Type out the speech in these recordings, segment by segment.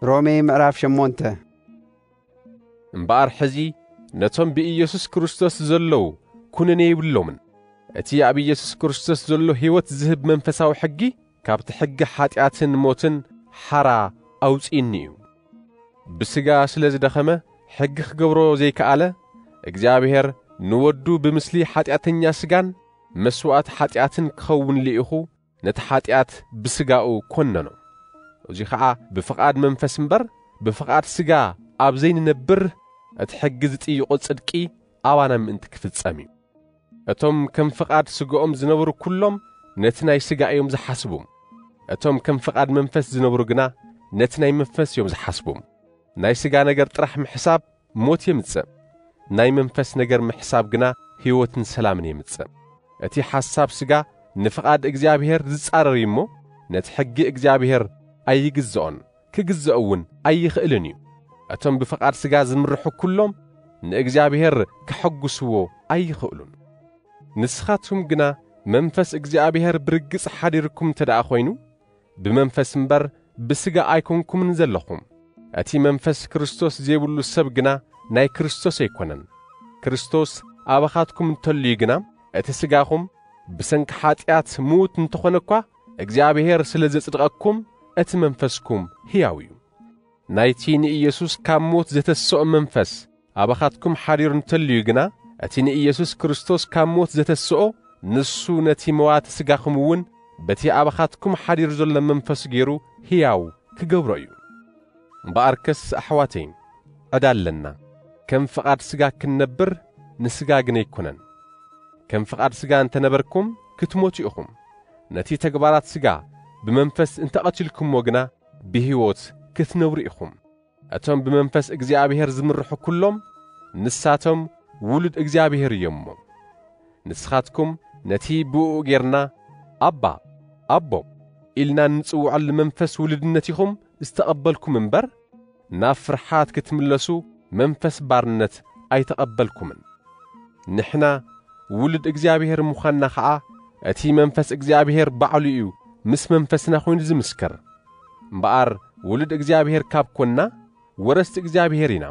ሮሜ ምዕራፍ ሸሞንተ። እምበኣር ሕዚ ነቶም ብኢየሱስ ክርስቶስ ዘለዉ ኩነኔ የብሎምን። እቲ ኣብ ኢየሱስ ክርስቶስ ዘሎ ህይወት ዝህብ መንፈሳዊ ሕጊ ካብቲ ሕጊ ሓጢኣትን ሞትን ሓራ ኣውጺእኒ እዩ። ብስጋ ስለ ዝደኸመ ሕጊ ክገብሮ ዘይከኣለ፣ እግዚኣብሔር ንወዱ ብምስሊ ሓጢኣተኛ ስጋን መስዋእቲ ሓጢኣትን ክኸውን ልኢኹ ነቲ ሓጢኣት ብስጋኡ ኮነኖ። እዚ ኸዓ ብፍቓድ መንፈስ እምበር ብፍቓድ ስጋ ኣብ ዘይንነብር እቲ ሕጊ ዝጥይቖ ጽድቂ ኣባና ምእንቲ ክፍጸም እዩ። እቶም ከም ፍቓድ ስጋኦም ዝነብሩ ኩሎም ነቲ ናይ ስጋ እዮም ዝሓስቡ። እቶም ከም ፍቓድ መንፈስ ዝነብሩ ግና ነቲ ናይ መንፈስ እዮም ዝሓስቡ። ናይ ስጋ ነገር ጥራሕ ምሕሳብ ሞት የምጽእ። ናይ መንፈስ ነገር ምሕሳብ ግና ህይወትን ሰላምን የምጽእ። እቲ ሓሳብ ስጋ ንፍቓድ እግዚኣብሔር ዝጻረር እዩ እሞ፣ ነቲ ሕጊ እግዚኣብሔር ኣይግዝኦን፣ ክግዝኦ እውን ኣይኽእልን እዩ። እቶም ብፍቓድ ስጋ ዝምርሑ ኩሎም ንእግዚኣብሔር ከሐጉስዎ ኣይኽእሉን። ንስኻትኩም ግና መንፈስ እግዚኣብሔር ብርግጽ ሓዲርኩም እንተ ደኣ ኾይኑ፣ ብመንፈስ እምበር ብስጋ ኣይኮንኩምን ዘለኹም። እቲ መንፈስ ክርስቶስ ዘይብሉ ሰብ ግና ናይ ክርስቶስ ኣይኮነን። ክርስቶስ ኣባኻትኩም እንተልዩ ግና፣ እቲ ስጋኹም ብሰንኪ ሓጢኣት ምዉት እንተኾነ እኳ፣ እግዚኣብሔር ስለ ዘጽድቐኩም፣ እቲ መንፈስኩም ህያው እዩ። ናይቲ ንኢየሱስ ካብ ሞት ዘተስኦ መንፈስ ኣባኻትኩም ሓዲሩ እንተልዩ ግና፣ እቲ ንኢየሱስ ክርስቶስ ካብ ሞት ዘተስኦ፣ ንሱ ነቲ መዋቲ ስጋኹም እውን በቲ ኣባኻትኩም ሓዲሩ ዘሎ መንፈስ ገይሩ ህያው ክገብሮ እዩ። እምበኣርከስ ኣሕዋተይ፣ ዕዳ ኣለና። ከም ፍቓድ ስጋ ክንነብር ንስጋ ግን ኣይኮነን። ከም ፍቓድ ስጋ እንተነበርኩም ክትሞቱ ኢኹም። ነቲ ተግባራት ስጋ ብመንፈስ እንተቐቲልኩምዎ ግና ብህይወት ክትነብሩ ኢኹም። እቶም ብመንፈስ እግዚኣብሔር ዝምርሑ ኩሎም ንሳቶም ውሉድ እግዚኣብሔር እዮም እሞ። ንስኻትኩም ነቲ ብእኡ ጌርና ኣባ፣ ኣቦ ኢልና እንጽውዐሉ መንፈስ ውሉድነት ኢኹም ዝተቐበልኩም እምበር፣ ናብ ፍርሓት ክትምለሱ መንፈስ ባርነት ኣይተቐበልኩምን። ንሕና ውሉድ እግዚኣብሔር ምዃንና ኸዓ እቲ መንፈስ እግዚኣብሔር ባዕሉ እዩ ምስ መንፈስና ኮይኑ ዝምስክር። እምበኣር ውሉድ እግዚኣብሔር ካብ ኮንና ወረስቲ እግዚኣብሔር ኢና።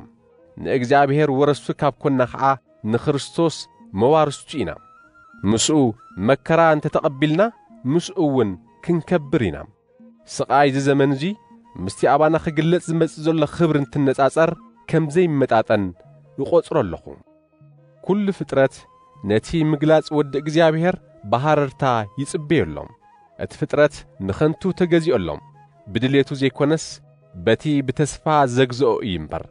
ንእግዚኣብሔር ወረስቱ ካብ ኮንና ኸዓ ንክርስቶስ መዋርስቱ ኢና። ምስኡ መከራ እንተ ተቐቢልና ምስኡ እውን ክንከብር ኢና። ስቓይ እዚ ዘመን እዚ ምስቲ ኣባና ክግለጽ ዝመጽእ ዘሎ ክብሪ እንትነጻጸር ከም ዘይመጣጠን እቖጽሮ ኣለኹ። ኩሉ ፍጥረት ነቲ ምግላጽ ወዲ እግዚኣብሔር ብሃረርታ ይጽበዮ ኣሎ። እቲ ፍጥረት ንኸንቱ ተገዚኦ ኣሎ። ብድሌቱ ዘይኮነስ በቲ ብተስፋ ዘግዝኦ እዩ እምበር።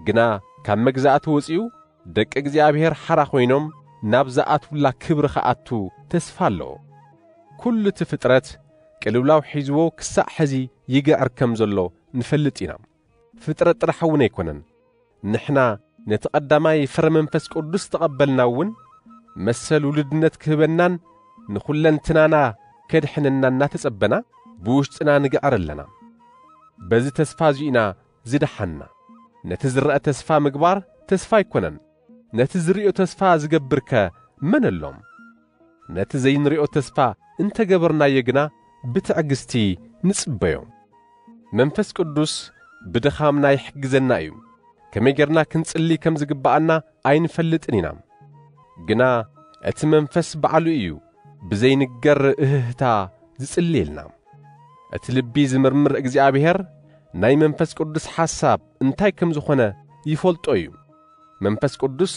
ግና ካብ መግዛእቲ ወጺኡ ደቂ እግዚኣብሔር ሓራ ኮይኖም ናብ ዝኣትውላ ክብሪ ክኣቱ ተስፋ ኣለዎ። ኩሉ እቲ ፍጥረት ቅልውላው ሒዝዎ ክሳዕ ሕዚ ይግዕር ከም ዘሎ ንፈልጥ ኢና። ፍጥረት ጥራሕ እውን ኣይኮነን። ንሕና ነቲ ቀዳማይ ፍረ መንፈስ ቅዱስ ተቐበልና እውን መሰል ውሉድነት ክህበናን ንኹለንትናና ከድሕነና እናተጸበና ብውሽጥና ንግዕር ኣለና። በዚ ተስፋ እዚ ኢና ዝደሓንና። ነቲ ዝረአ ተስፋ ምግባር ተስፋ ኣይኮነን። ነቲ ዝርእዮ ተስፋ ዝገብርከ መን ኣሎ? ነቲ ዘይንርእዮ ተስፋ እንተገበርናዮ ግና ብትዕግስቲ ንጽበዮ። መንፈስ ቅዱስ ብድኻምና ይሕግዘና እዩ። ከመይ ጌርና ክንጽሊ ከም ዝግብኣና ኣይንፈልጥን ኢና። ግና እቲ መንፈስ ባዕሉ እዩ ብዘይንገር እህህታ ዝጽልየልና። እቲ ልቢ ዝምርምር እግዚኣብሔር ናይ መንፈስ ቅዱስ ሓሳብ እንታይ ከም ዝኾነ ይፈልጦ እዩ። መንፈስ ቅዱስ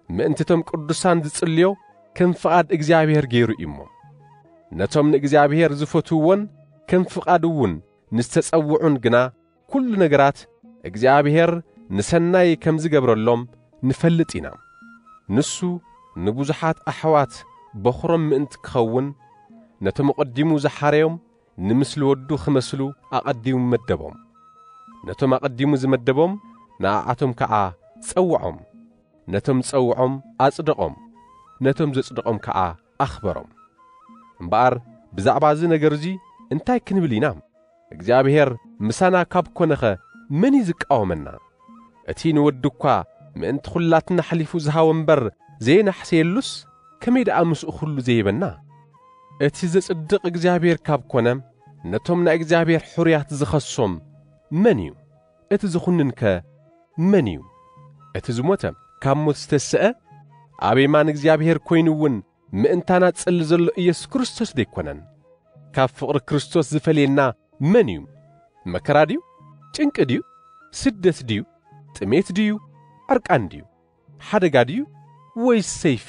ምእንቲ እቶም ቅዱሳን ዝጽልዮ ከም ፍቓድ እግዚኣብሔር ገይሩ እዩ እሞ። ነቶም ንእግዚኣብሔር ዝፈትውዎን ከም ፍቓዱ እውን ንዝተጸውዑን ግና ኩሉ ነገራት እግዚኣብሔር ንሰናይ ከም ዝገብረሎም ንፈልጥ ኢና። ንሱ ንብዙሓት ኣሕዋት በኹሮም ምእንቲ ክኸውን ነቶም ኣቐዲሙ ዝሓረዮም ንምስሊ ወዱ ክመስሉ ኣቐዲሙ መደቦም። ነቶም ኣቐዲሙ ዝመደቦም ንኣዓቶም ከዓ ጸውዖም። ነቶም ጸውዖም ኣጽደቖም። ነቶም ዘጽደቖም ከዓ ኣኽበሮም። እምበኣር ብዛዕባ እዚ ነገር እዚ እንታይ ክንብል ኢና? እግዚኣብሔር ምሳና ካብ ኮነኸ መን እዩ ዝቃወመና? እቲ ንወዱ እኳ ምእንቲ ኹላትና ኣሕሊፉ ዝሃቦ እምበር ዘየናሕሰየሉስ ከመይ ደኣ ምስኡ ኹሉ ዘይበና? እቲ ዘጽድቕ እግዚኣብሔር ካብ ኮነ ነቶም ናይ እግዚኣብሔር ሕሩያት ዝኸሶም መን እዩ? እቲ ዝኹንንከ መን እዩ? እቲ ዝሞተ፣ ካብ ሞት ዝተሰአ፣ ኣብ የማን እግዚኣብሔር ኮይኑ እውን ምእንታና ጽሊ ዘሎ ኢየሱስ ክርስቶስ ደይኮነን? ካብ ፍቕሪ ክርስቶስ ዝፈልየና መን እዩ? መከራ ድዩ? ጭንቂ ድዩ? ስደት ድዩ? ጥሜት ድዩ? ዕርቃን ድዩ? ሓደጋ ድዩ? ወይስ ሰይፊ?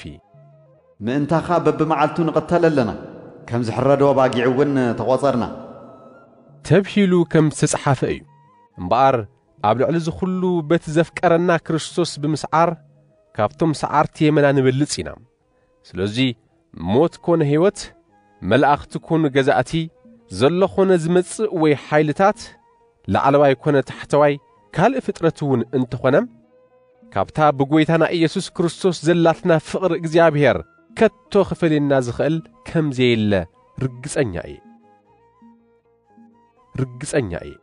ምእንታኻ በብመዓልቱ ንቕተል ኣለና፣ ከም ዝሕረዶ ባጊዕ እውን ተቖጸርና። ተብሂሉ ከም ዝተጽሓፈ እዩ። እምበኣር ኣብ ልዕሊ እዚ ኹሉ በቲ ዘፍቀረና ክርስቶስ ብምስዓር ካብቶም ሰዓርቲ የመና ንበልጽ ኢና። ስለዚ ሞት ኮነ ህይወት፣ መላእኽቲ ኮኑ ገዛእቲ፣ ዘሎ ኮነ ዝመጽእ ወይ ሓይልታት፣ ላዕለዋይ ኮነ ታሕተዋይ፣ ካልእ ፍጥረት እውን እንተኾነ፣ ካብታ ብጎይታና ኢየሱስ ክርስቶስ ዘላትና ፍቕሪ እግዚኣብሔር ከቶ ክፈልየና ዝኽእል ከም ዘየለ ርግጸኛ እየ። ርግጸኛ እየ።